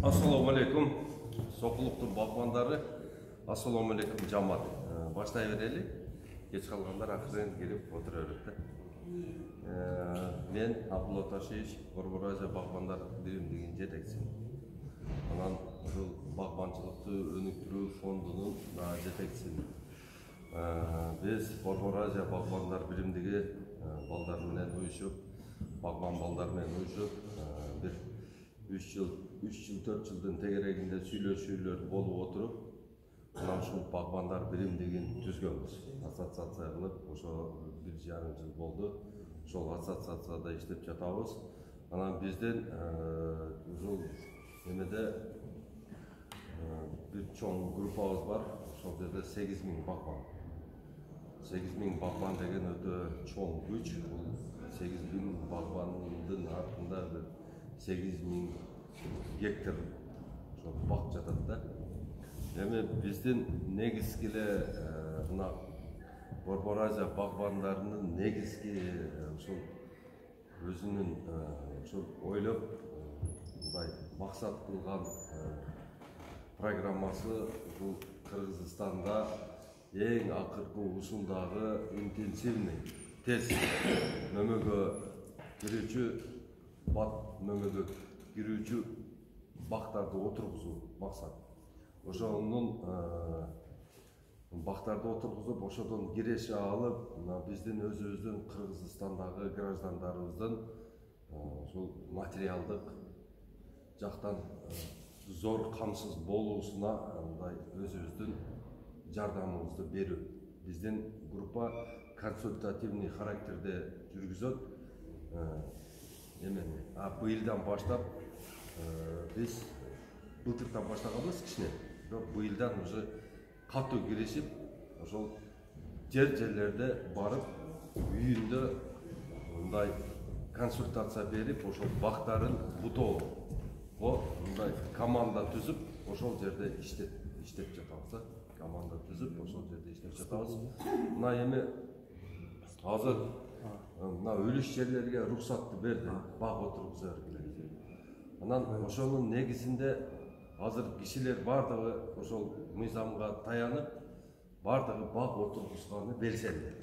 Assalomu alaykum. Soquluqtun bag'bondari. Assalomu alaykum jamoat. Boshlay beraylik. Kech qolganlar axirdan kelib o'tiraveradi. Men Abdullo Tashish, Qorboraja bag'bonlar birimliginin жетекчиси. Анан ушул багбанчылыкты өнүктүрүү фондунун жетекчиси. Биз Qorboraja багбондар биримдиги балдар менен уюшуп, багбан балдар менен уюшуп, бир 3 жыл 4 жылдын тегерегинде сүйлөшүүлөр болуп отуруп, анан ушул багбандар биримдигин түзгөнбүз. Ассоциация кылып, ошо 1,5 жыл болду. Ошол ассоциацияда иштеп жатабыз. Анан бизден ушул эмеде бир чоң группабыз бар. Ошол жерде 8000 багбан. 8000 багбан деген өтө чоң күч. Бул 8000 багбандын артында 8000 гектар бак жатат да. Эми биздин негизги эле мына Qorboraja багбандарынын негизги ушул өзүнүн ушул ойлоп мындай максат кылган программасы ушул Кыргызстанда эң акыркы ушундагы интенсивный тез мөмөгө кирүүчү мөмөгө кирүүчү бактарды отургузуу максат. Ошонун бактарды отургузуп, ошодон киреше алып, биздин өзүбүздүн Кыргызстандагы граждандарыбыздын ушул материалдык жактан зор камсыз болуусуна мындай өзүбүздүн жардамыбызды берүү. Биздин группа консультативный характерде жүргүзөт. Быйылдан баштап биз былтырдан баштаганбыз кичине, бирок быйылдан уже катуу киришип, ошол жерлерде барып, үйүндө мындай консультация берип, ошол бактарын бутоого мындай команда түзүп, ошол жерде иштеп жатабыз. Команда түзүп, ошол жерде иштеп жатабыз. Мына эми азыр мына өлүш жерлерге уруксатты берди, баг отургуза бергиле. Анан ошонун негизинде азыр кишилер бардыгы ошол мыйзамга таянып, бардыгы баг отургузганы белсенди.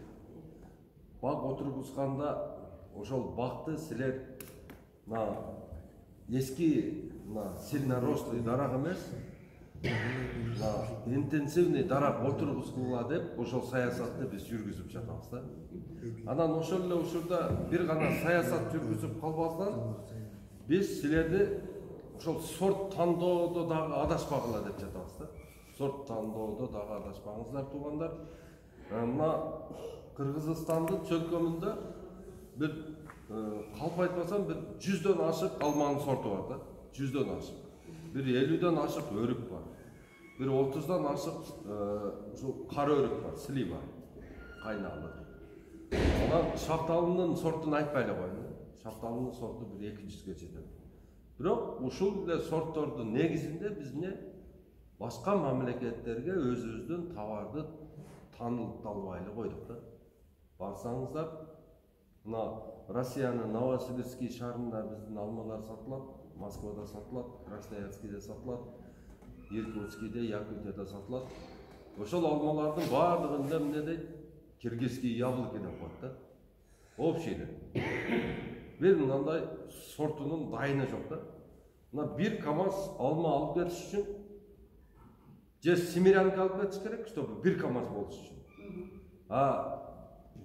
Баг отургузганда ошол багты силер эски сильнорослый дарак эмес, интенсивный дарак отургузгула деп ошол саясатты биз жүргүзүп жатабыз да. Анан ошол эле учурда бир гана саясат жүргүзүп калбастан биз силерди ошол сорт тандоодо дагы адашпагыла деп жатабыз да. Сорт тандоодо дагы адашпаңыздар туугандар. Мына Кыргызстандын чөлкөмүндө бир калп айтпасам бир 100дөн ашык алманын сорту бар да. 100дөн ашык. Бир 50дөн ашык өрүк бар. Бир 30дан ашык ушул кара өрүк бар, слива, кайналы. Анан шафталынын сортун айтпай эле коеюн. Шафталынын сорту бир 200ге жетет. Бирок ушул эле сорттордун негизинде биз башка мамлекеттерге өзүбүздүн товарды таанылталбай эле койдук да. Барсаңыздар, мына Россиянын Новосибирский шаарында биздин алмалар сатылат, Москвада сатылат, Красноярскийде сатылат, Иркутскийде, Якутияда сатылат. Ошол алмалардын баардыгында эмне дейт? Киргизский яблоки деп коет да. Общий эле. Бир мындай сортунун дайыны жок да. Мына бир КамАЗ алма алып кетиш үчүн же семерянка алып кетиш керек, чтобы бир КамАЗ болуш үчүн.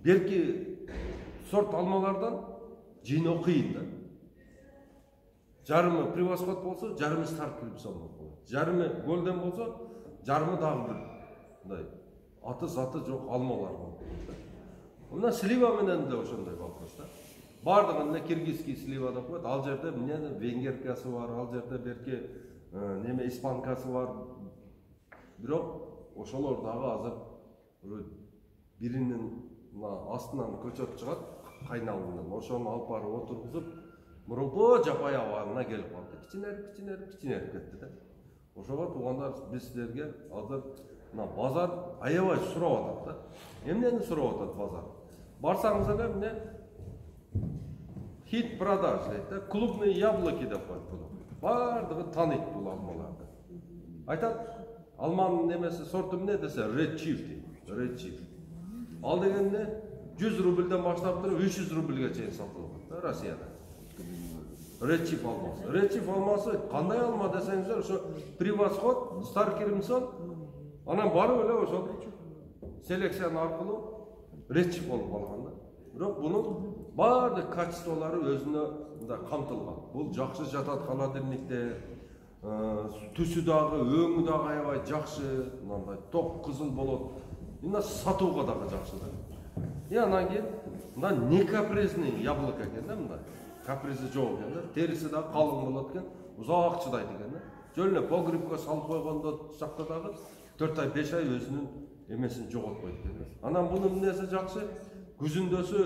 Берки сорт алмалардан жыйноо кыйын да. Жарымы превосход болсо, жарымы стартылып болот. Жарымы голден болсо, жарымы дагы бир мындай аты-заты жок алмалар болот. Мына слива менен да ошондой вопрос да. Бардыгын эле киргизский слива деп коет. Ал жерде венгеркасы бар, ал жерде берки испанкасы бар. Бирок ошолор дагы азыр биринин астынан көчөп чыгат, кайналынан. Ошону алып барып отургузуп, мурунку жапай абалына келип калды. Кичинерип кетти да. Ошого туугандар биз силерге азыр базар аябай сурап атат да. Эмнени сурап атат базар? Барсаңыз эле хит продаж дейт да. Клубные яблоки деп коет буну. бардыгы тааныйт бул алмаларды. Айтат, алманын немеси сорту эмне десе, Red Chief дейт. Red Chief. Ал дегенде 100 рубльден баштап туруп 300 рубльге чейин сатылат да Россияда. Red Chief алмасы. Red Chief алмасы кандай алма десеңиздер, ошо Превосход, Старкермсон, анан барып эле ошо селекция аркылуу Red Chief болуп калган да. Бирок бунун бардык качестволору өзүнө мындай камтылган. Бул жакшы жатат холодильникте, түсү дагы, өңү дагы аябай жакшы, мындай ток кызыл болот. Мына сатууга дагы жакшы да. Анан кийин мындай некапризный яблоко экен да, мындай. Капризи жок экен да. Териси дагы калың болот экен, узак чыдайт экен да. Жөн эле погребке салып койгондо жакта дагы 4 ай 5 ай өзүнүн эмесин жоготпойт экен да. Анан бунун эмнеси жакшы? Күзүндөсү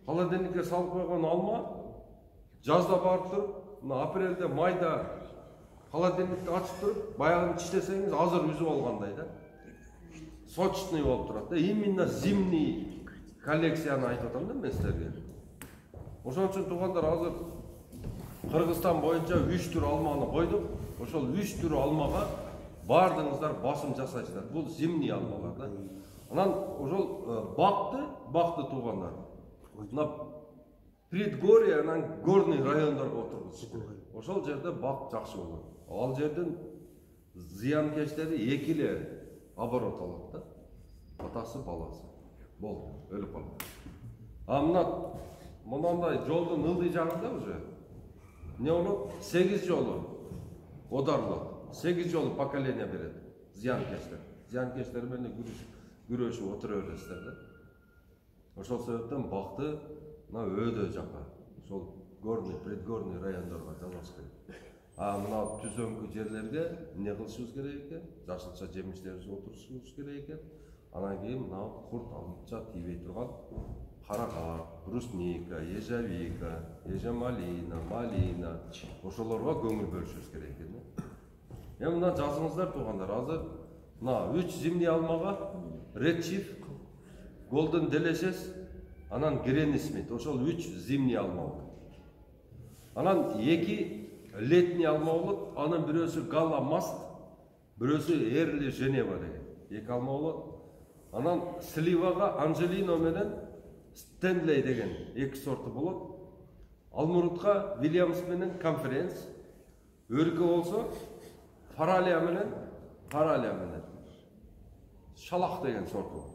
холодильникке салып койгон алма жазда барып туруп, мына апрелде, майда холодильникти ачып туруп, баягы чиштесеңиз азыр үзүп алгандай да. Сочный болуп турат да. Именно зимний коллекцияны айтып атам да мен силерге. Ошон үчүн туугандар, азыр Кыргызстан боюнча 3 түр алманы койдук. Ошол 3 түр алмага бардыгыңыздар басым жасайсыздар. Бул зимний алмалар да. Анан ошол бакты туугандар. Мына предгорье, анан горный райондорго отургузуш. Ошол жерде бак жакшы болот. Ал жердин зыянкечтери 2 эле оборот алат да. Атасы, баласы. Болду, өлүп калат. Мына мындай жолдун ылдый жагында уже не болот? 8 жолу одарылат. 8 жолу поколение берет зыянкечтер. Зыянкечтер менен күрөшүп отура бересиздер да. Ошол себептен бакты мына өйдө жака. Ошол горный, предгорный райондорго жалгаш керек. Мына түзөңкү жерлерге эмне кылышыбыз керек экен? Жашылча жемиштерибизди отурушубуз керек экен. Анан кийин мына курт алынча тийбей турган каракат, брусника, ежевика, ежемалина, малина, ошолорго көңүл бөлүшүбүз керек экен. Мына жазыңыздар туугандар, азыр мына 3 зимний алмага Red Chief, Golden Delicious, анан Granny Smith, ошол 3 зимний алма болот. Анан 2 летний алма болот, анын бирөөсү Gala Mast, бирөөсү Early Geneva деген. 2 алма болот. Анан сливага Angelino менен Stanley деген 2 сорту болот. Алмурутка Williams менен Conference, өркө болсо Фаралия менен Шалак деген сорт болот.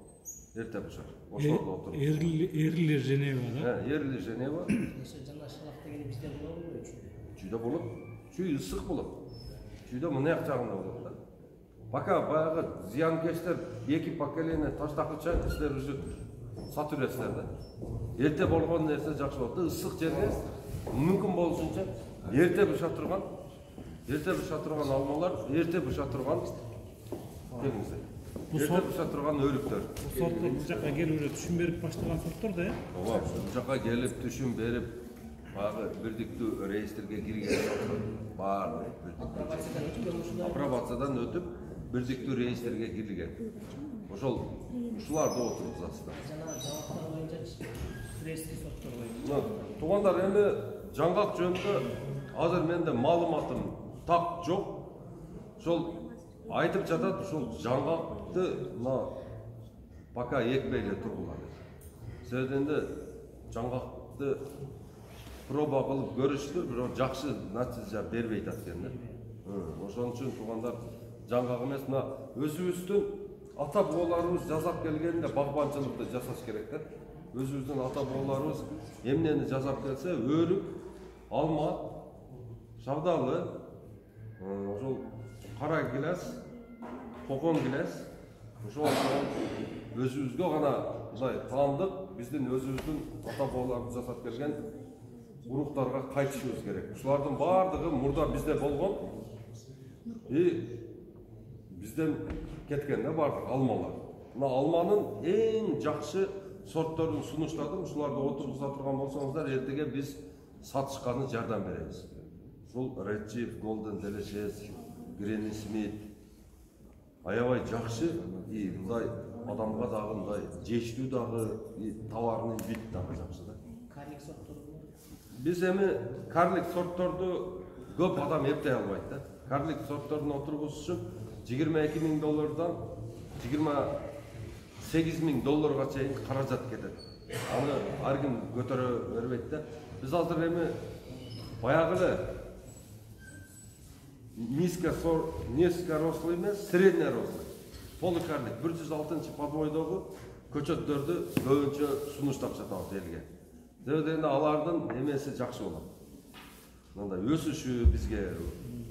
Эрте бушар. Ошолордо отуруп. Эрли Женева да? Эрли Женева. Жана Шалак деген бизде болобу? Чүйдө болот. Чүй ысык болот. Чүйдө мына жагында болот да. Пока баягы зыянкечтер 2 поколение таштакыча силер уже сатып бересиздер да. Эрте болгон нерсе жакшы болот да. Ысык жерге мүмкүн болушунча эрте быша турган алмалар, эрте быша турган деңиздер. Эрте быша турган өрүктөр. Бул сорттор бул жака келип уже түшүн берип баштаган сорттор да, Ооба, бул жака келип түшүн берип, баягы бирдиктүү реестрге кирген сорттор баары апробациядан өтүп, бирдиктүү реестрге кирилген. Ушуларды отургузасыздар. Жана жаңгактар боюнча фрески сорттор боюнча. Туугандар, эми жаңгак жөнүндө азыр менде маалыматым так жок. Ошол айтып жатат, ушул жаңгакты мына пока экпей эле тургула дейт. Себебинде жаңгакты проба кылып көрүштүр, бирок жакшы натыйжа бербей атат экен да. Ошон үчүн туугандар, жаңгак эмес, мына өзүбүздүн ата бабаларыбыз жасап келгенде багбанчылыкты жасаш керек да. Өзүбүздүн ата бабаларыбыз эмнени жасап келсе, өрүк, алма, шабдалы, ошол кара гилес, кокон гилес, ошол өзүбүзгө гана мындай таандык, биздин өзүбүздүн ата бабаларыбыз жасап келген уруктарга кайтышыбыз керек. Ушулардын баардыгы мурда бизде болгон бизден кеткен да баардык алмалар. Мына алманын эң жакшы сортторун сунуштадым. Ушуларды отургуза турган болсоңуздар, эртеге биз сатышканы жардам беребиз. Ушул Red Chief, Golden Delicious, Granny Smith аябай жакшы, мындай адамга дагы мындай жештүү дагы, товарный вид дагы жакшы да. Карлик сорттор. Биз эми карлик сортторду көп адам эптей албайт да. Карлик сортторун отургузуш үчүн $22,000 $28,000 чейин каражат кетет. Аны ар ким көтөрө бербейт да. Биз азыр эми баягы эле низкорослый эмес, среднерослый полукарлик 106-подвойдогу көчөттөрдү көбүнчө сунуштап сатабыз элге. Себеби алардын эмеси жакшы болот. Мындай өсүшү бизге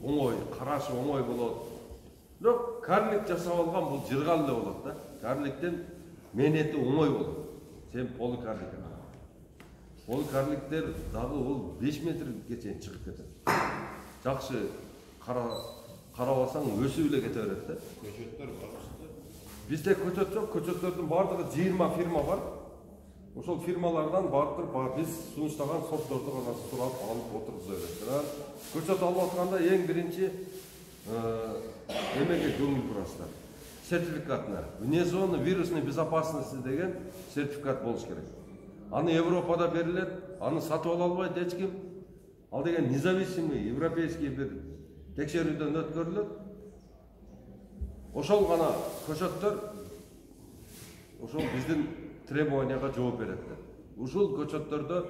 оңой, карашы оңой болот. Бирок карлик жасап алган бул жыргал эле болот да. Карликтин мээнети оңой болот. Сен полукарлик. Полукарликтер дагы бул 5 метрге чейин чыгып кетет. Жакшы карабасаң өсүп эле кете берет да. Көчөттөр бар. Бизде көчөт жок, көчөттөрдүн бардыгы 20 фирма бар. Ошол фирмалардан барып биз сунуштаган сортторду гана сурап алып отургуза берет. Көчөт алып атканда эң биринчи эмеге көңүл бурасыздар. Сертификатына. Вне зоны вирусной безопасности деген сертификат болуш керек. Аны Европада берилет, аны сатып ала албайт эч ким. Ал деген независимый европейский бир текшерүүдөн өткөрүлөт. Ошол гана көчөттөр ошол биздин требованияга жооп берет. Ушул көчөттөрдө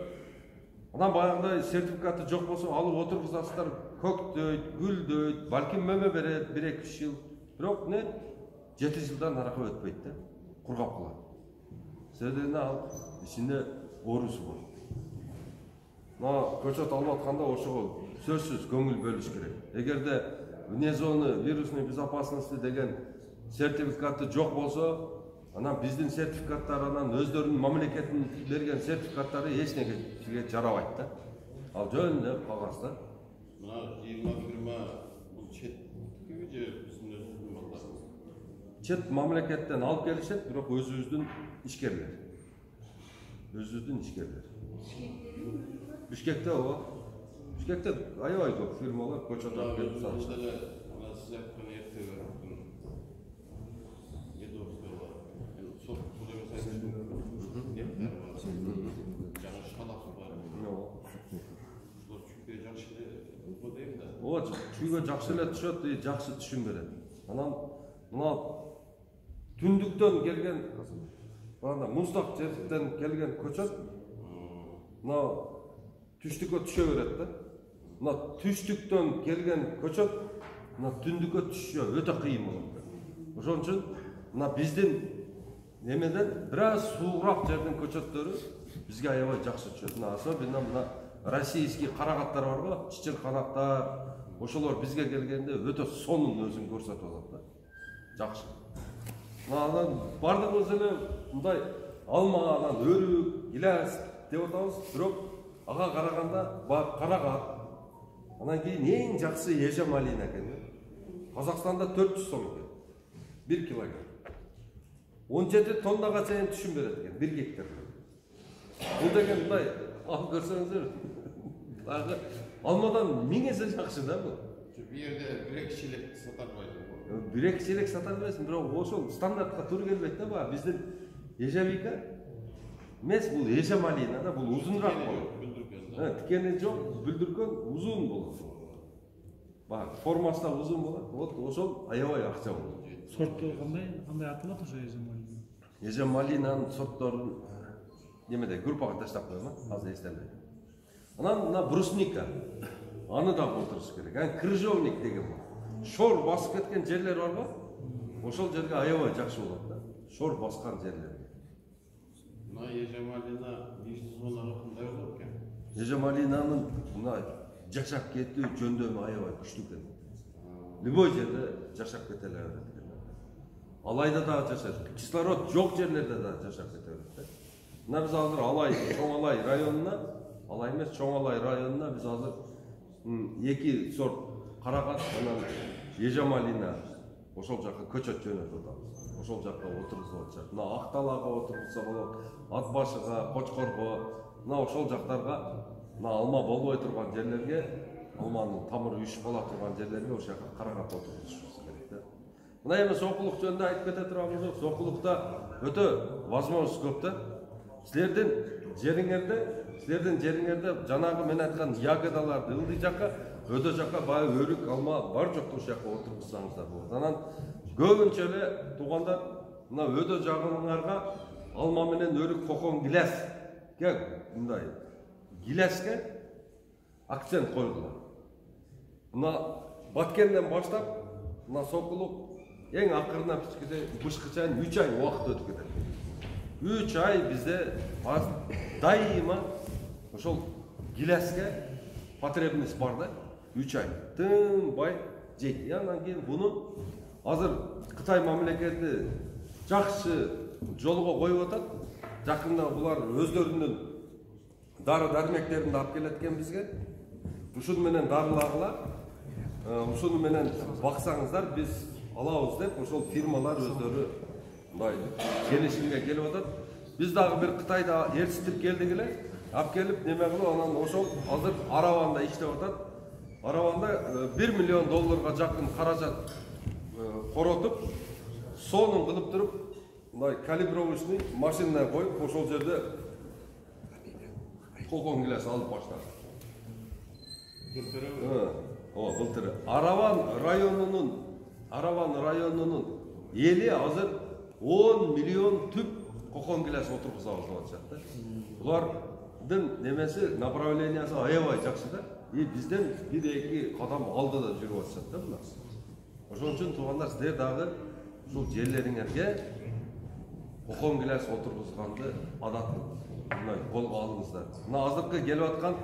анан баягындай сертификаты жок болсо алып отургузасыздар, көктөйт, гүлдөйт, балким мөмө берет 1-2 жыл. Бирок 7 жылдан аракка өтпөйт да, кургап калат. Себеби ал ичинде оорусу бар. Көчөт алып атканда ошого сөзсүз көңүл бөлүш керек. Эгерде вне зоны вирусной безопасности деген сертификаты жок болсо, анан биздин сертификаттар анан өздөрүнүн мамлекеттин берген сертификаттары эч нерсеге жарабайт да. Ал жөн эле кагаз да. Мына 20 фирма бул четтеги же биздин өзүбүздүн балдарыбыз. Чет мамлекеттен алып келишет, бирок өзүбүздүн ишкерлер. Өзүбүздүн ишкерлер. Бишкекте ооба. Бишкекте аябай көп фирмалар көчөт алып келип сатышат. Ана сиз айткан эртеге чүйгө жакшы эле түшөт, жакшы түшүм берет. Анан мына түндүктөн келген, бана муздак жерден келген көчөт, мына түштүккө түшө берет да. Мына түштүктөн келген көчөт, мына түндүккө түшүшү өтө кыйын болот. Ошон үчүн мына биздин немеден бир аз суугураак жердин көчөттөрү бизге аябай жакшы түшөт. Особенно мына российский карагаттар бар го, чычырканактар, ошолор бизге келгенде өтө сонун өзүн көрсөтүп алат да. Жакшы. Анан бардыгыбыз эле мындай алма, анан өрүк, гилас деп атабыз, бирок ага караганда карагат. Анан кийин эң жакшы эже малина экен. Казакстанда 400 сом экен. 1 килограмм. 17 тоннага чейин түшүм берет экен 1 гектар. Бул деген мындай алып көрсөңүздөр. Дагы алмадан 1000 эсе жакшы да бул. Бу жерде 1-2 чилек сата албайсың. 1-2 чилек сата албайсың, бирок ошол стандартка туура келбейт да. Баа биздин ежевика эмес, бул эже малина да, бул узунураак болот. Тикени жок, бүлдүркөн узун болот. Баа формасы да узун болот. Вот ошол аябай акча болот. Сорттор кандай аталат ошо эже малина? Эже малинанын сортторун немеде группага таштап коём, азыр эстелбейт. Анан мына брусника. Аны да отуруш керек. Анан крыжовник деген бар. Шор басып кеткен жерлер бар го? Ошол жерге аябай жакшы болот да. Шор баскан жерлерге. Мына эже малина бишти зонага кандай болот экен? Эже малинанын мына жашап кетүү жөндөмү аябай күчтүү экен. Любой жерде жашап кете алат экен. Алайда да жашайт. Кислород жок жерлерде да жашап кете берет. Мына биз азыр Алай, Чоң Алай районуна, Алай эмес, Чоң Алай районуна биз азыр 2 сорт карагат, анан эже малина ошол жака көчөт жөнөтүп атабыз. Ошол жакка отургузуп атышат. Мына Акталага отургузса болот, Ат башыга, Кочкорго, мына ошол жактарга, мына алма болбой турган жерлерге, алманын тамыры үшүп кала турган жерлерге ошол жака карагат отургузушубуз керек да. Мына эми сокулук жөнүндө айтып кете турганбыз, сокулукта өтө возможность көп да. Силердин силердин жериңерде жанагы мен айткан ягодаларды ылдый жакка, өтө жакка баягы өрүк, алма бар жок ошол жакка отургузсаңыздар болот. Анан көбүнчө эле туугандар мына өтө жагыңарга алма менен өрүк кокон гилеске мындай гилеске акцент койгула. Мына Баткенден баштап мына Сокулук эң акырына бышкы чейин 3 ай убакыт өтүп кетет. 3 ай бизде дайыма ошол гилеске потребность бар да. 3 ай тынбай жейт. Андан кийин буну азыр Кытай мамлекети жакшы жолго коюп атат. Жакында булар өздөрүнүн дары дармектерин алып келет экен бизге. Ушуну менен дарылагыла, ушуну менен баксаңыздар биз алабыз деп ошол фирмалар өздөрү мындай келишимге келип атат. Биз дагы бир Кытайда ээрчитип келдик эле, алып келип неме кылып анан ошол азыр Араванда иштеп атат. Араванда $1 миллион жакын каражат коротуп, сонун кылып туруп, мындай калибровочный машина коюп, ошол жерде кокон гилес алып баштады. Былтыры. Араван районунун эли азыр 10 миллион түп кокон гилес отургузабыз деп атышат да. Булардын немеси направлениясы аябай жакшы да. Бизден 1-2 кадам алдыда жүрүп атышат да булар. Ошон үчүн туугандар сиздер дагы ушул жерлериңерге кокон гилес отургузганды адат мындай колго алыңыздар. Мына азыркы келип аткан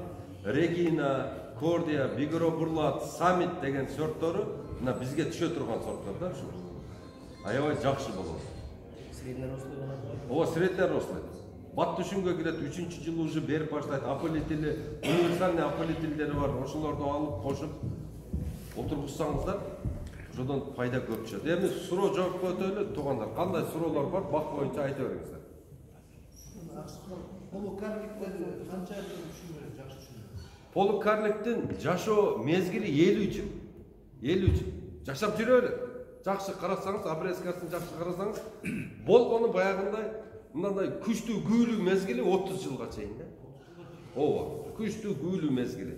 Регина, Кордия, Бигро Бурлат, Саммит деген сорттору мына бизге түшө турган сорттор да ушу. Аябай жакшы болот. Среднерослый болот. Ооба, среднерослый. Бат түшүмгө кирет, 3-жылы уже берип баштайт. Аполитили, универсальный аполитилдери бар. Ошолорду алып кошуп отургузсаңыздар, ошодон пайда көп чыгат. Эми суроо жооп өтөлү туугандар. Кандай суроолор бар, бак боюнча айта бериңиздер. Полукарликтен канча түшүнүп жакшы түшүнүп. Полукарликтин жашоо мезгили 50 жыл. 50 жыл. Жашап жүрөлү. Жакшы карасаңыз, обрезкасын жакшы карасаңыз, болгону баягындай мындай күчтүү күүлүү мезгили 30 жылга чейин да. Ооба, күчтүү күүлүү мезгили.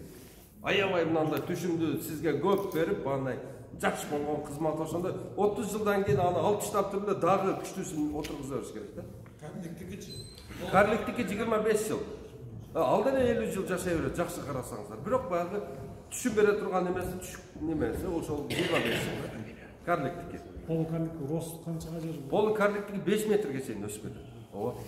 Аябай мындай түшүмдү сизге көп берип, андай жакшы болгон кызмат ошондой 30 жылдан кийин аны алып таштап туруп дагы күчтүүсүн отургуза бериш керек да. Карликтики 25 жыл. Ал деле 50 жыл жашай берет, жакшы карасаңыздар. Бирок баягы түшүм бере турган немеси ошол 25 жыл. Карликтики. Полукарликтик рост канчага жетет? Полукарликтики 5 метрге чейин өсүп кетет. Ооба.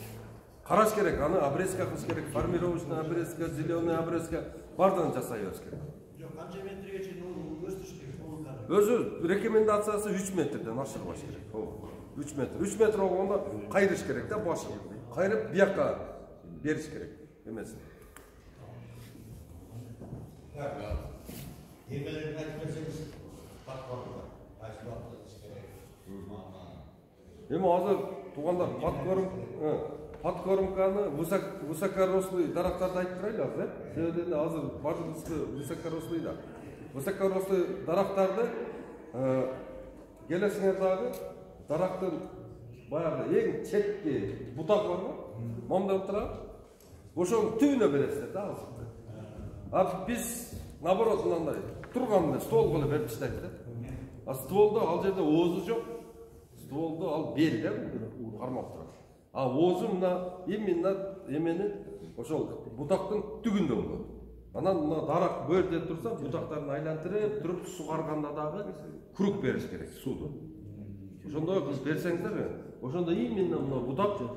Караш керек, аны обрезка кылыш керек, формировочный обрезка, зеленый обрезка бардыгын жасай бериш керек. Жок, канча метрге чейин өстүрүш керек полукарлик? Өзү рекомендациясы 3 метрден ашырбаш керек. Ооба. 3 метр. 3 метр болгондо кайрыш керек да башын. Кайрып бияка бериш керек. Эмеси. Эмелерин айтып берсеңиз, бакпаңыздар. Эми азыр туугандар подкормканы высокорослый дарактарды айтып турайлы азыр, себеби азыр бардыгыбызды высокорослый да. Высокорослый дарактарды келесиңер дагы дарактын баягы эң четки бутак бар го, момдон турат. Ошонун түбүнө бересиздер да азыркы. А биз наоборот мындай турган стол кылып берип таштайбыз да. А стволдо ал жерде оозу жок. Стволдо ал бел да кармап турат. А оозу мына именно эмени ошол бутактын түгүндө болот. Анан мына дарак бөлдө турса, бутактарын айлантырып туруп сугарганда дагы круг бериш керек сууду. Ошондой кылып берсеңиздер, ошондо именно мына бутактын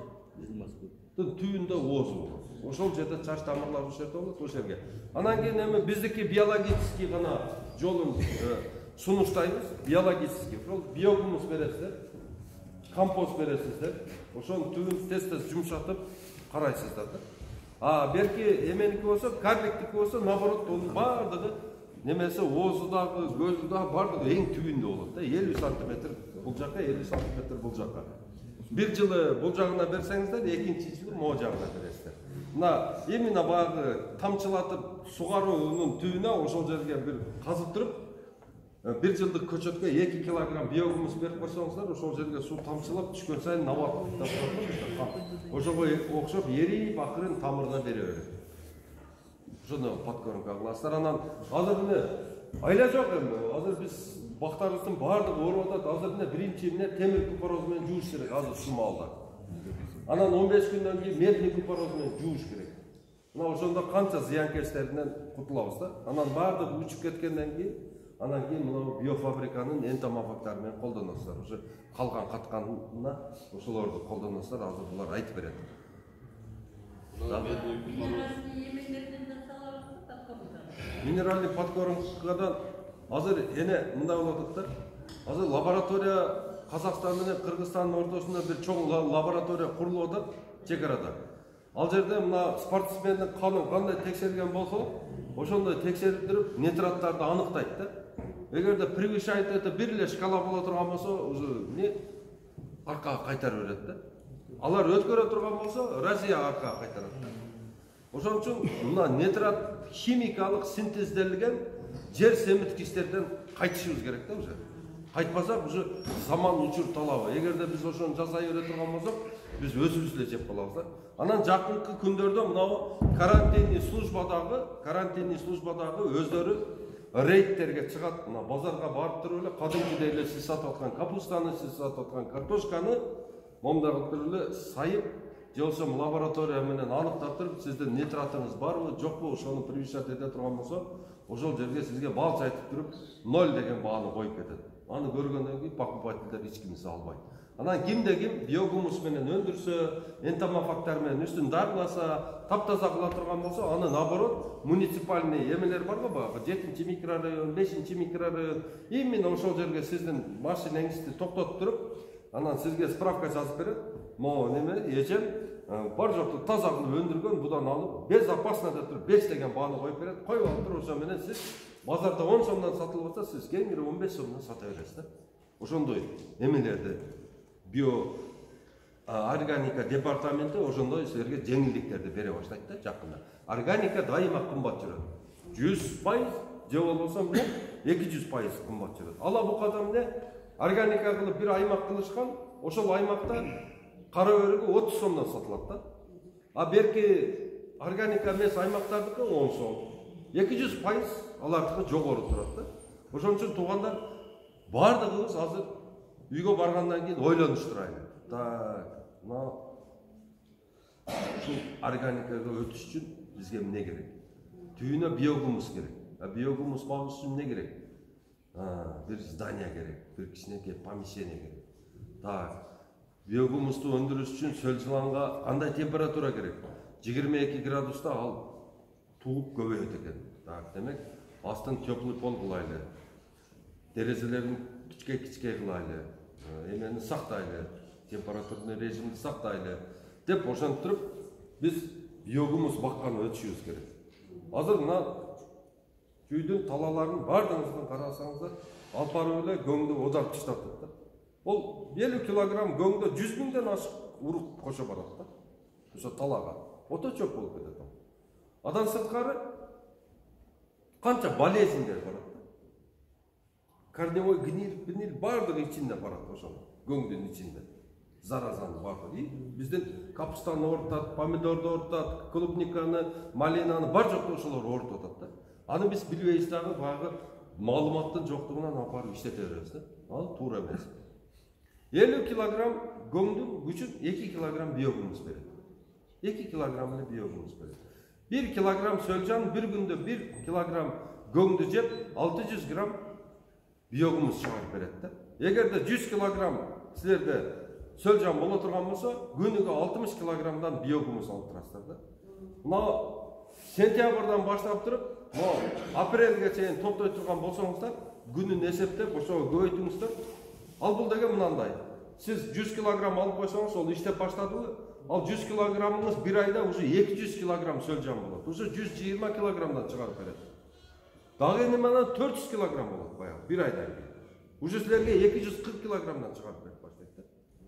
түбүндө оозу болот. Ошол жерде чач тамырлар ошол жерде болот, ошол жерге. Анан кийин эми биздики биологический гана жолун сунуштайбыз, биологический. Ошол биогумус бересиздер, компост бересиздер. Ошонун түбүн тез-тез жумшатып карайсыздар да. А берки эменики болсо, карликтики болсо, наоборот, онун бардыгы немеси оозу дагы, көзү дагы бардыгы эң түбүндө болот да. 50 сантиметр бул жака, 50 сантиметр бул жака. Bir жылы бул жагына берсеңиздер, экинчи жылы могу жагына бересиздер. Мына именно баягы тамчылатып сугаруунун түбүнө ошол жерге бир казып туруп, 1 жылдык көчөткө 2 килограмм биогумус берип койсоңуздар, ошол жерге суу тамчылап түшкөн сайын набат ошого окшоп эрип акырын тамырына бере берет. Ошону подкормка кыласыздар. Анан азыр эмне айла жок эми. Азыр биз бактарыбыздын баардыгы ооруп атат. Азыр эмне биринчи эмне темир купороз менен жууш керек азыр ушул маалда. Анан 15 күндөн кийин медный купороз менен жууш керек. Мына ошондо канча зыянкечтеринен кутулабыз да. Анан баардыгы учуп кеткенден кийин анан кийин мына биофабриканын энтомофагтары менен колдоносуздар. Ошо калган катканына ошолорду колдоносуздар. Азыр булар айтып берет. Минеральный подкормкадан азыр эне мындай болуп атат да. Азыр лаборатория Казакстан менен Кыргызстандын ортосунда бир чоң лаборатория курулуп атат чек арада. Ал жерде мына спортсмендин канын кандай текшерилген болсо, ошондой текшерип нитраттарды аныктайт да. Эгерде превышает это бир эле шкала боло турган болсо, уже не аркага кайтарып берет да. Алар өткөрө турган болсо, Россия аркага кайтарат. Ошон үчүн мына нитрат химикалык синтезделген жер семиткичтерден кайтышыбыз керек да уже. Кайтпасак уже заман учур талабы. Эгерде биз ошону жасай бере турган болсок, биз өзүбүз эле жеп калабыз да. Анан жакынкы күндөрдө мынау карантинный службадагы өздөрү рейдтерге чыгат. Мына базарга барып туруп эле кадимкидей эле сиз сатып аткан капустаны, сиз сатып аткан картошканы момундай кылып туруп эле сайып, же болбосо лаборатория менен аныктап туруп, сиздин нитратыңыз барбы, жокпу, ошону превышать эте турган болсо, ошол жерге сизге балчы айтып туруп 0 деген бааны коюп кетет. Аны көргөндөн кийин покупательдер эч кимиси албайт. Анан кимде ким биогумус менен өндүрсө, энтомофагтар менен үстүн дарыласа, таптаза кыла турган болсо, аны наоборот муниципальный эмелер барго, баягы 7-чи микрорайон, 5-чи микрорайон, именно ошол жерге сиздин машинаңызды токтотуп туруп, анан сизге справка жазып берет. Могу неме эжем бар жокту таза кылып өндүргөн, будан алып, безопасно деп туруп 5 деген бааны коюп берет. Коюп алып туруп, ошо менен сиз базарда 10 сомдон сатылып атса, сиз кеңири 15 сомдон сата бересиз да. Ошондой эмелерди био органика департаменти ошондой силерге жеңилдиктерди бере баштайт да жакында. Органика дайыма кымбат жүрөт. 100% же болбосо эмне 200% кымбат жүрөт. Ала букада эмне органика кылып бир аймак кылышкан, ошол аймакта кара өрүгү 30 сомдон сатылат да. А берки органика эмес аймактардыкы 10 сом. 200% алардыкы жогору турат да. Ошон үчүн туугандар бардыгыбыз азыр үйгө баргандан кийин ойлонуштурайлы. Так, мына ушул органикага өтүш үчүн бизге эмне керек? Түйүнө биогумус керек. А биогумус багыш үчүн эмне керек? Бир здание керек, бир кичинекей помещение керек. Так, биогумусту өндүрүш үчүн сөл жыланга кандай температура керек? 22 градуста ал тууп көбөйөт экен. Так, демек, астын теплый пол кылайлы. Терезелерин кичке кылайлы. Эмени сактайлы, температурный режимди сактайлы деп ошентип туруп биз биогумус бакканы өтүшүбүз керек. Азыр мына күйдүн талаларын бардыгыңыздан карасаңыздар, алып барып эле көңдү одар таштатат да. Ол 50 килограмм көңдө 100 миңден ашык урук кошо барат да. Ошо талага ото чөп болуп кетет. Адан сырткары канча болезньдер барат. Корневой гниль бардыгы ичинде барат ошол көңдүн ичинде. Заразаны бардыгы. Биздин капустаны ортат, помидорду ортат, клубниканы, малинаны бар жокту ошолор ортуп атат да. Аны биз билбейбиз дагы, баягы маалыматтын жоктугунан алып барып иштете беребиз да. Ал туура эмес. 50 килограмм көңдүн күчүн 2 килограмм биогумус берет. 2 килограмм эле биогумус берет. 1 килограмм сөлжан бир күндө 1 килограмм көңдү жеп 600 грамм биогумус чыгарып берет да. Эгерде 100 килограмм силерде сөлжан боло турган болсо, күнүгө 60 килограммдан биогумус алып турасыздар да. Мына сентябрдан баштап туруп, апрелге чейин топтой турган болсоңуздар, күнүн эсептеп ошого көбөйтүңүздөр. Ал бул деген мынандай. Сиз 100 килограмм алып койсоңуз, ол иштеп баштадыбы? Ал 100 килограммыңыз бир айда уже 200 килограмм сөлжан болот. Уже 120 килограммдан чыгарып берет. Дагы эми менен 400 килограмм болот баягы бир айдан кийин. Уже силерге 240 килограммдан чыгарып берип баштайт да.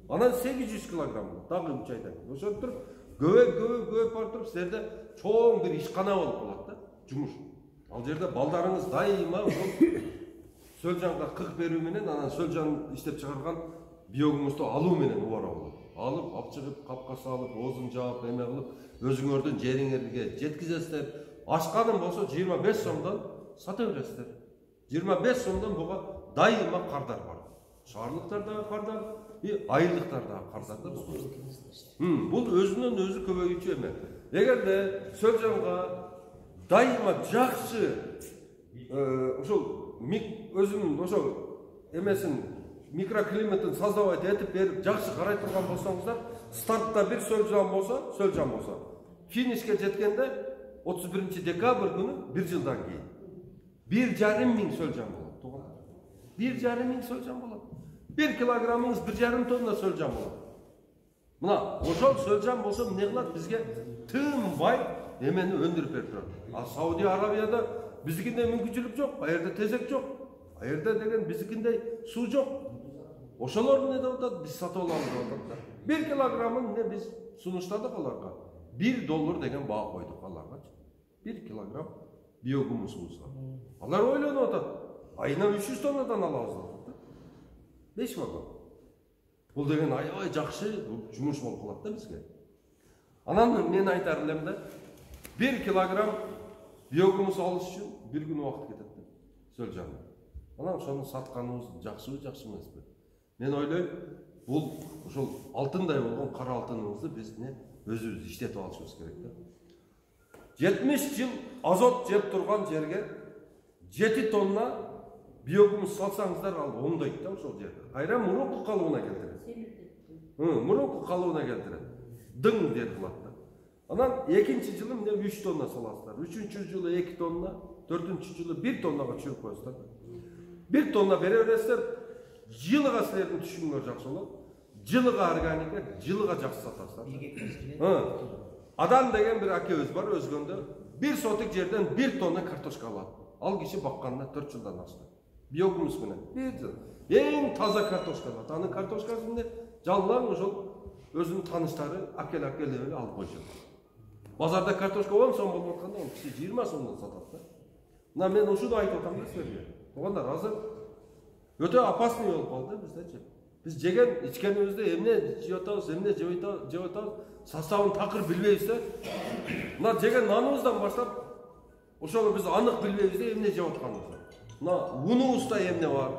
Анан 800 килограмм болот дагы 3 айдан кийин. Ошентип туруп көбөйүп барып туруп силерде чоң бир ишкана болуп калат да, жумуш. Ал жерде балдарыңыз дайыма ошол сөлжанга кык берүү менен анан сөлжан иштеп чыгарган биогумузду алуу менен убара болот. Алып чыгып, капка салып, оозун жаап, эме кылып, өзүңөрдүн жериңерге жеткизесиздер. Ашканым болсо 25 сомдон сата бересиздер. 25 сомдон буга дайыма кардар бар. Шаарлыктардагы кардар, айылдыктардагы кардар да. Бул өзүнөн өзү көбөйүүчү эме. Эгерде сөлжанга дайыма жакшы ошол өзүнүн ошол эмесин микроклиматын создавать этип берип жакшы карай турган болсоңуздар, стартта бир сөлжан болсо, финишке жеткенде 31 декабрь күнү 1 жылдан кийин 1,5 миң сөлжан болот. Туугандар. 1,5 миң сөлжан болот. 1 килограммыңыз 1,5 тонна сөлжан болот. Мына, ошол сөлжан болсо эмне кылат? Бизге тым бай эмени өндүрүп берип турат. А Сауди Арабияда биздикиндей мүмкүнчүлүк жок, а жерде тезек жок. А жерде деген биздикиндей суу жок. Ошолор эмне деп атат? Биз сатып алабыз деп атат. 1 килограммын эмне биз сунуштадык аларга. $1 деген баа койдук аларгачы. 1 килограмм биогумусубузга. Алар ойлонуп атат. Айына 300 тоннадан алабыз деп атат. 5 вагон. Бул деген аябай жакшы жумуш болуп калат да бизге. Анан мен айтар элем да, 1 килограмм биогумус алыш үчүн 1 күн убакыт кетет да. Сөлжан. Анан ошону сатканыбыз жакшыбы, жакшы эмеспи? Мен ойлойм, бул ошол алтындай болгон кара алтыныбызды биз өзүбүз иштетип алышыбыз керек да. 70 жыл азот жеп турган жерге 7 тонна биогумус салсаңыздар ал оңдойт да ошол жерде. Кайра мурунку калыбына келтирет. Мурунку калыбына келтирет. Дың деп кылат да. Анан экинчи жылы эмне 3 тонна саласыздар. 3-чү жылы 2 тонна, 4-чү жылы 1 тоннага чүрүп коесуздар. 1 тонна бере бересиздер. Жылыга силердин түшүмүңөр жакшы болот. Жылыга органика, жылыга жакшы сатасыздар. Адам деген бир акебиз бар өзгөндө 1 сотик жерден 1 тонна картошка алат. Ал киши бакканына 4 жылдан ашты. Биогумус менен 1 жыл. Эң таза картошка алат. Анын картошкасын жаллаң ошол өзүнүн таныштары акел эле алып койчу. Базарда картошка 10 сом болуп атканда, ал киши 20 сомдон сатат да. Мына мен ушуну айтып атам да силерге. Туугандар, азыр өтө опасный болуп калды биздечи. Биз жеген ичкенибизде эмне жеп атабыз, эмне жеп атабыз, составын такыр билбейбиз да. Мына жеген наныбыздан баштап ошону биз анык билбейбиз да эмне жеп атканыбызды. Мына унубузда эмне бар?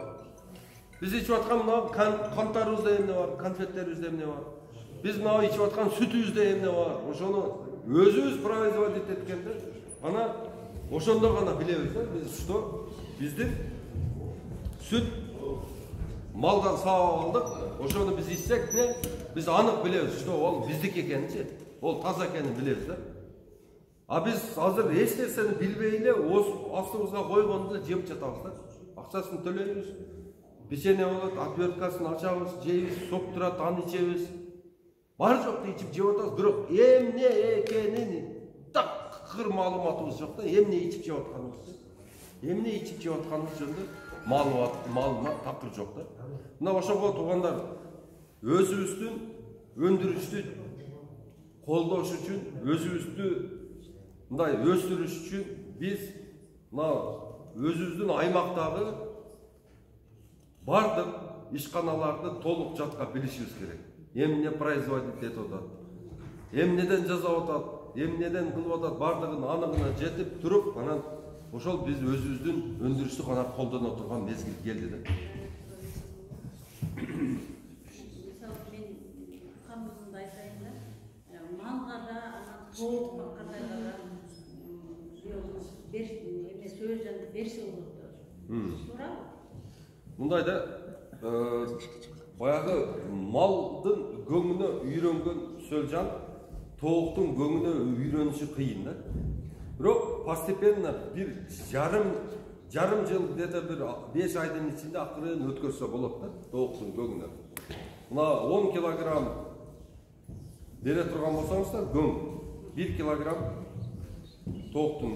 Биз ичип аткан мына канттарыбызда эмне бар? Конфеттерибизде эмне бар? Биз мына ичип аткан сүтүбүздө эмне бар? Ошону өзүбүз производить эткенде, ана ошондо гана билебиз да. Биз что биздин сүт малдан саап алдык. Ошону биз ичсек, биз анык билебиз, что ол биздики экенинчи. Ол таза экенин билебиз да. А биз азыр эч нерсени билбей эле астыбызга койгонду жеп жатабыз да. Акчасын төлөйбүз. Печенье болот, отверткасын ачабыз, жейбиз, сок турат, аны ичебиз. Бар жокты ичип жеп атабыз, бирок эмне экенин такыр маалыматыбыз жок да. Эмне ичип жеп атканыбызды, эмне ичип жеп атканыбыз жөнүндө маалымат такыр жок да. Мына ошого туугандар, өзүбүздүн өндүрүштү колдош үчүн, өзүбүздү мындай өстүрүш үчүн биз мына өзүбүздүн аймактагы бардык ишканаларды толук жатка билишибиз керек. Эмне производить этип атат, эмнеден жасап атат, эмнеден кылып атат, бардыгын анығына жетип туруп, анан ошол биз өзүбүздүн өндүрүштү гана колдоно турган мезгил келди да. Мисалы мен камызымды айтайын да, малга да, анан тоок баккандайга да эме сөлжанды берсе болот да. Туурабы? Мындай да, баягы малдын көңүнө үйрөнгөн сөлжан тооктун көңүнө үйрөнүшү кыйын да. Бирок постепенно бир жарым жыл где-то бир 5 айдын ичинде акырын өткөрсө болот да тооктун көңүнө. Мына 10 килограмм бере турган болсоңуздар, көң 1 килограмм тооктун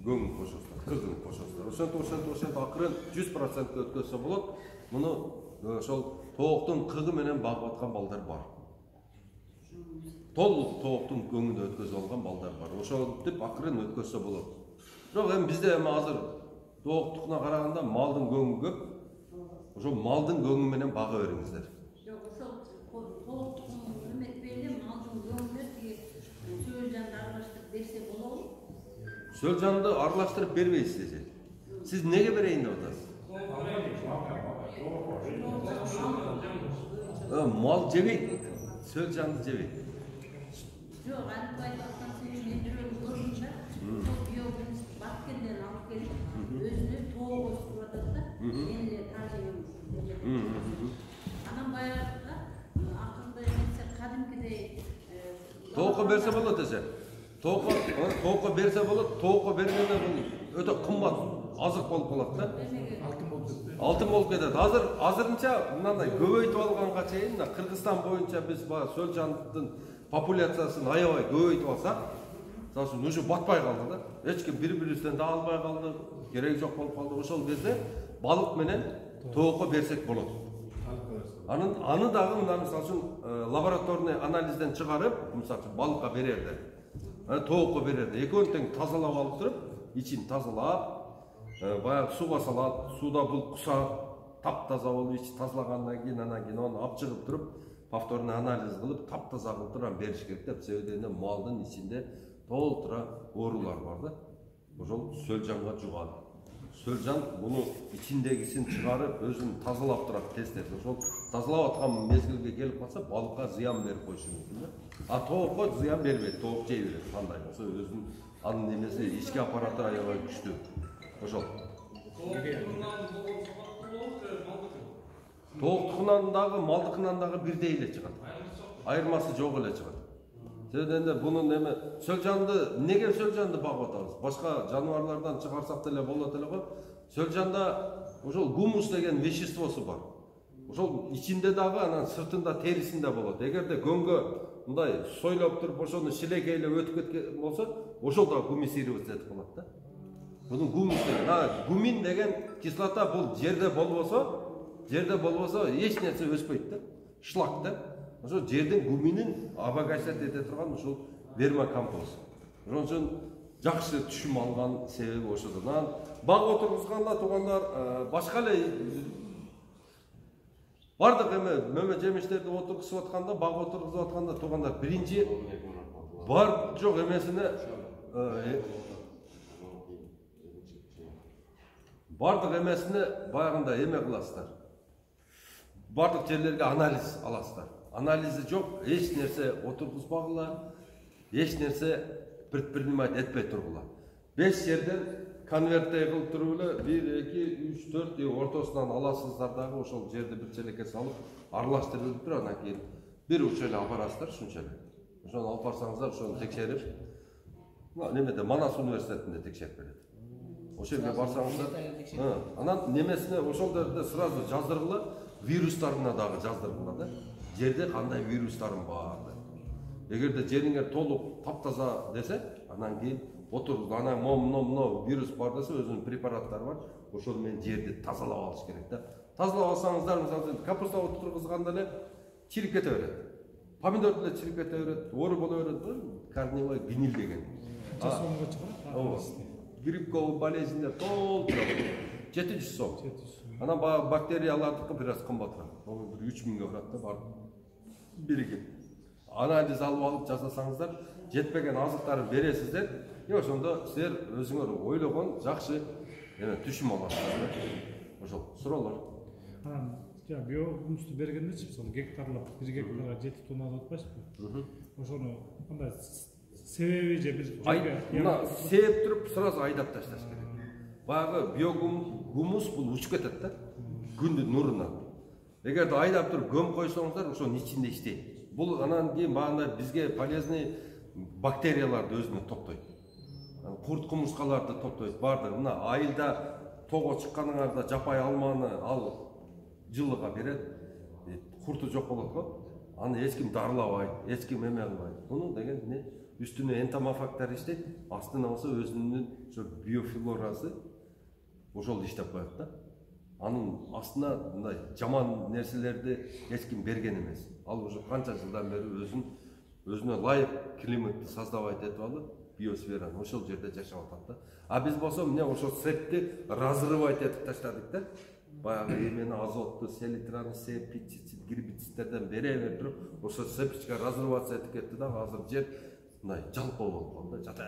көңүн кошосуздар, кызын кошосуздар. Ошентип акырын 100% өткөрсө болот. Муну ошол тооктун кыгы менен багып аткан балдар бар. Толук тооктун көңүнө өткөзүп алган балдар бар. Ошентип акырын өткөрсө болот. Бирок эми бизде эми азыр тооктукуна караганда малдын көңү көп. Ошол малдын көңү менен бага бериңиздер. Жок, ошол тоок тукумун эметпейли, малдын көңүнө тиги сөөлжанды аралаштырып берсе болобу? Сөөлжанды аралаштырып бербейсиз эже. Сиз неге берейин деп атасыз? Мал жебейт, сөөлжанды жебейт. Жок, анын айтып аткан сөзү мен жүрөгүм көрүнчө, ошол биогумус Баткенден алып келип, өзүнө тоок өстүрүп атат да, мен эле тажыйм. Анан баягыда акырында эмесе кадимкидей Тоокко берсе болот эже. Тоокко берсе болот, тоокко бергенде бул өтө кымбат азык болуп калат да. Алтын болуп кетет. Азырынча мындай көбөйтүп алганга чейин Кыргызстан боюнча биз баягы сөөлжандын популяциясын аябай көбөйтүп алсак, мисалы уже батпай калды да. Эч ким бири-бирибизден да албай калды, кереги жок болуп калды. Ошол кезде балык менен тоокко берсек болот. Аны дагы мына мисалы лабораторный анализден чыгарып, мисалы балыкка берерде, тоокко берерде, экөөнү тең тазалап алып туруп, ичин тазалап, баягы сууга салат, сууда бул куса таптаза болуп ичи тазалагандан кийин анан аны алып чыгып туруп, повторный анализ кылып, таптаза кылып туруп бериш керек деп. Себеби малдын ичинде толтура оорулар бар да. Ошол сөөлжанга жуган. Сөөлжан буну ичиндегисин чыгарып, өзүн тазалап турат тез-тез. Ошол тазалап аткан мезгилге келип калса, балыкка зыян берип коюшу мүмкүн да. Тоокко зыян бербейт, тоок жей берет. Кандай болсо өзүнүн анын немеси ички аппараты аябай күчтүү. Ошол. Тооктукунан дагы, малдыкынан дагы бирдей эле чыгат. Айырмасы жок эле чыгат. Себеби бунун эме сөөлжанды неге сөөлжанды багып атабыз? Башка жаныбарлардан чыгарсак деле болот эле го. Сөөлжанда ошол гумус деген веществосу бар. Ошол ичинде дагы, анан сыртында, терисинде болот. Эгерде көңгө мындай сойлоп туруп, ошону шилекейлеп өтүп кеткен болсо, ошол да гумисироваться этип калат да. Bunun гумус деген, гумин деген кислота бул жерде болбосо эч нерсе өспөйт да. Шлак да. Ошо жердин гуминин обогащать эте турган ушул вермокомпоз. Ошон үчүн жакшы түшүм алган себеби ошодон. Баг отургузганда туугандар башка эле бардык эме мөмө жемиштерди отургузуп атканда, баг отургузуп атканда туугандар биринчи бар жок эмесине бардык эмесине баягында эме кыласыздар. Бардык жерлерге анализ аласыздар. Анализи жок, эч нерсе отургузбагыла, эч нерсе предпринимать этпей тургула. 5 жерден конверттей кылып туруп эле 1, 2, 3, 4 ортосунан аласыздар дагы ошол жерди бир челекке салып, аралаштырып туруп, анан кийин бир уч эле алып барасыздар, ушунча эле. Ошону алып барсаңыздар, ошону текшерип, немеде Манас университетинде текшерип берет. Ошол жерге барсаңыздар, анан немесине ошол жерде сразу жаздыргыла, вирустарына дагы жаздыргыла да. Жерде кандай вирустарым бар деп. Эгерде жериңер толук таптаза десе, анан кийин отуруп, анан моно вирус бар десе, өзүнүн препараттары бар. Ошол менен жерди тазалап алыш керек да. Тазалап алсаңыздар, мисалы капуста отургузганда эле чирип кете берет. Помидор деле чирип кете берет, оору боло берет, корневой гниль деген. Жасоомго чыгат. Грибковый болезньдер толтура 700 сом. Анан бактериялардыкы бир аз кымбатыраак. 3000 барат да бар. Биригип. Анализ алып алып жасасаңыздар, жетпеген азыктарын бересиздер. Ошондо силер өзүңөр ойлогон жакшы түшүм аласыздар. Ошол суроолор. Анан биогумусту бергендечи, мисалы гектарлап 1 гектарга 7 тонна деп атпайсызбы? Ошону кандай себеби же бир мына сээп туруп сразу айдап ташташ керек. Баягы биогумус бул учуп кетет да. Күндүн нурунан. Эгерде айдап туруп көмүп койсоңуздар, ошонун ичинде иштейт. Бул анан кийин багында бизге полезный бактерияларды өзүнө топтойт. Курт кумурскаларды топтойт. Бардыр. Мына айылда тоого чыкканыңарда жапай алманы ал жылыга берет. Курту жок болот го. Аны эч ким дарылабайт, эч ким эме кылбайт. Муну деген эмне? Үстүнө энтомофагтар иштейт, астына болсо өзүнүн ошо биофлорасы ошол иштеп коет да. Анын астына мындай жаман нерселерди эч ким берген эмес. Ал уже канча жылдан бери өзүнө ылайык климатты создавать этип алып, биосфераны ошол жерде жашап атат да. А биз болсо эмне ошол септи разрывать этип таштадык да. Баягы эмени азотту, селитраны, пестицид, гербицидтерден бере туруп, ошо сепичке разрывация этип кетти да. Азыр жер мындай жалпы болуп калды да. Жата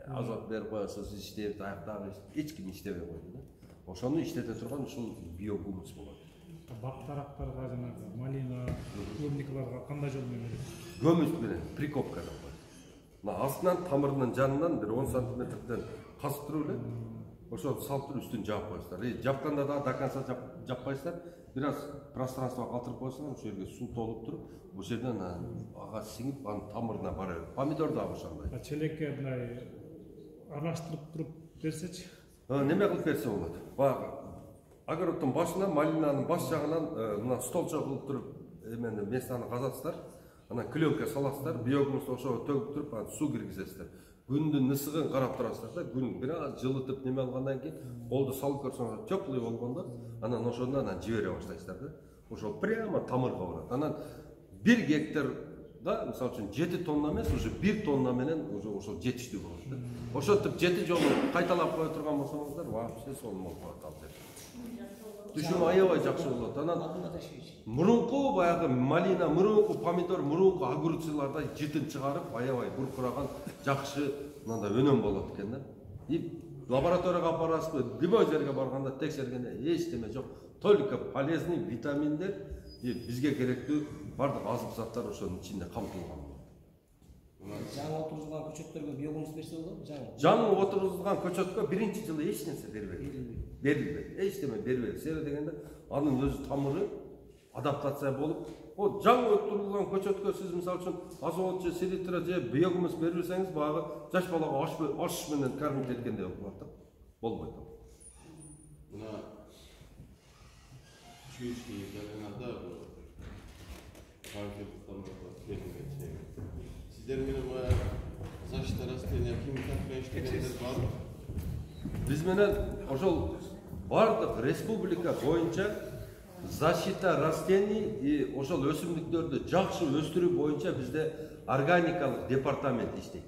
азот берип коесуз, иштеп, аяктагы эч ким иштебей койду да. Ошону иштете турган ушул биогумус болот. Бак тарактарга жанагы малина, клубникаларга кандай жол менен берет? Көмүс менен прикопка деп коет. Мына астынан тамырынын жанынан бир 10 сантиметрден касып туруп эле ошону салып туруп үстүн жаап коесуздар. Жапканда да до конца жаппайсыздар. Бир аз пространство калтырып койсоңор ошол жерге суу толуп туруп, ошол жерден ага сиңип, анын тамырына бара берет. Помидор да ошондой. Челекке мындай аралаштырып туруп берсечи? Неме кылып берсе болот. Баягы огороддун башына, малинанын баш жагынан мына столчо кылып туруп, эмени местаны казасыздар. Анан клёнка саласыздар, биогумусту ошого төгүп туруп, анан суу киргизесиздер. Күндүн ысыгын карап турасыздар да, күн бир аз жылытып неме алгандан кийин колду салып көрсөңөр теплый болгондо, анан ошондон жибере баштайсыздар да. Ошол прямо тамырга барат. Анан 1 гектарда, мисалы үчүн 7 тонна эмес, уже 1 тонна менен уже ошол жетиштүү болот да. Ошентип 7 жолу кайталап кое турган болсоңуздар, вообще сонун болуп калат ал жер. Түшүм аябай жакшы болот. Анан мурунку баягы малина, мурунку помидор, мурунку огурцларда жытын чыгарып, аябай буркураган жакшы мындай өнөм болот экен да. И лабораторияга апарасызбы, любой жерге барганда текшергенде эч неме жок. Только полезный витаминдер и бизге керектүү бардык азык заттар ошонун ичинде камтылган. Жаңы отургузулган көчөттөргө биогумус берсе болобу? Жаңы отургузулган көчөткө биринчи жылы эч нерсе берилбейт. Эч неме берилбейт. Себеби дегенде анын өзү тамыры адаптация болуп, о жаңы отургузулган көчөткө сиз мисалы үчүн азот же селитра же биогумус бербесеңиз, баягы жаш балага аш менен кормить эткендей болуп калат да. Болбойт. Мына чүйүшкү жаранада сиздер менен защита растения химикат менен иштегендер барбы? Биз менен ошол бардык республика боюнча защита растений и ошол өсүмдүктөрдү жакшы өстүрүү боюнча бизде органикалык департамент иштейт.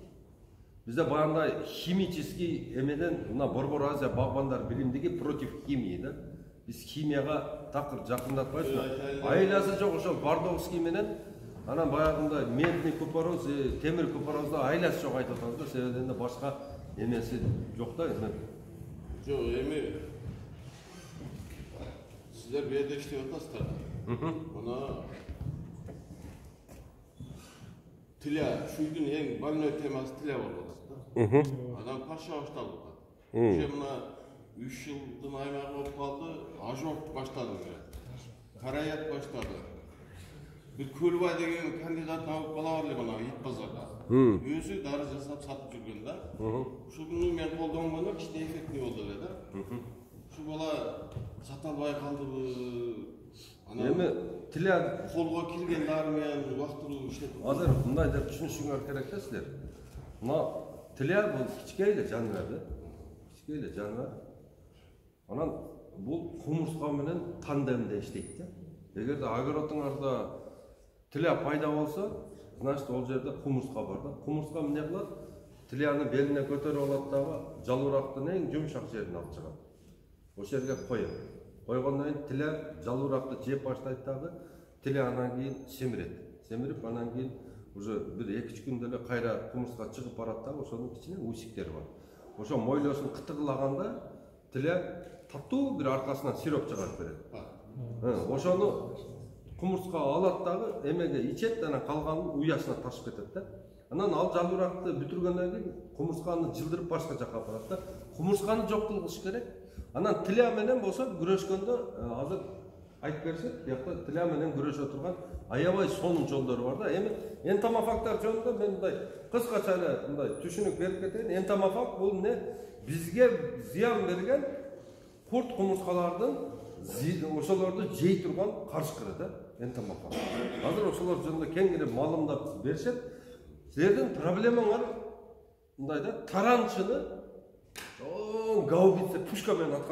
Бизде баягындай химический эмеден мына Борбор Азия багбандар билимдиги против химии да. Биз химияга такыр жакындатпайбыз. Айласы жок ошол Бардовский менен анан баягындай медный купороз, темир купорозду айласы жок айтып атабыз да, себеби башка эмеси жок да. Жок, эми сиздер бияда иштеп атасыздар. Мына тиля, шүйдүн эң больной темасы тиля болуп атат да. Анан паша башталып атат. Уже мына 3 жылдын аймагы болуп калды, ожог баштады. Караят баштады. Бир Көлбай деген кандидат алып бала бар эле мына ит базарда. Өзү дары жасап сатып жүргөн да. Ушуну мен колдонгондо кичине эффектный болду эле да. Ушу бала сата албай калдыбы? Эми тиля колго кирген дары менен убактылуу иштетип. Азыр мындай деп түшүнүшүңөр керек да силер. Мына тиля бул кичке эле жаныбар да. Кичке эле жаныбар. Анан бул кумурска менен тандемде иштейт да. Эгерде огородуңарда тиля пайда болсо, значит ол жерде кумурска бар да. Кумурска эмне кылат? Тиляны белине көтөрүп алат дагы, жалуурактын эң жумшак жерин алып чыгат. Ошол жерге коет. Койгондон кийин тиля жалууракты жеп баштайт дагы, тиля анан кийин семирет. Семирип анан кийин уже бир 2-3 күндө эле кайра кумурска чыгып барат дагы, ошонун ичинде усиктери бар. Ошо мойлосун кытыгылаганда тиля таттуу бир аркасынан сироп чыгарып берет. Ошону кумурска алат дагы, эмеге ичет, анан калганын уясына ташып кетет да. Анан ал жалууракты бүтүргөндөн кийин кумурсканы жылдырып башка жакка апарат да. Кумурсканы жок кылыш керек. Анан тиля менен болсо күрөшкөндө азыр айтып берсек, биякта тиля менен күрөшө турган аябай сонун жолдору бар да. Эми энтомофагтар жөнүндө мен мындай кыскача эле мындай түшүнүк берип кетейин. Энтомофаг бул эмне? Бизге зыян берген курт кумурскалардын ошолорду жей турган карышкыры да, энтомофаг. Азыр ошолор жөнүндө кеңири маалымдап беришет. Силердин проблемаңар мындай да, таранчыны гаубица пушка менен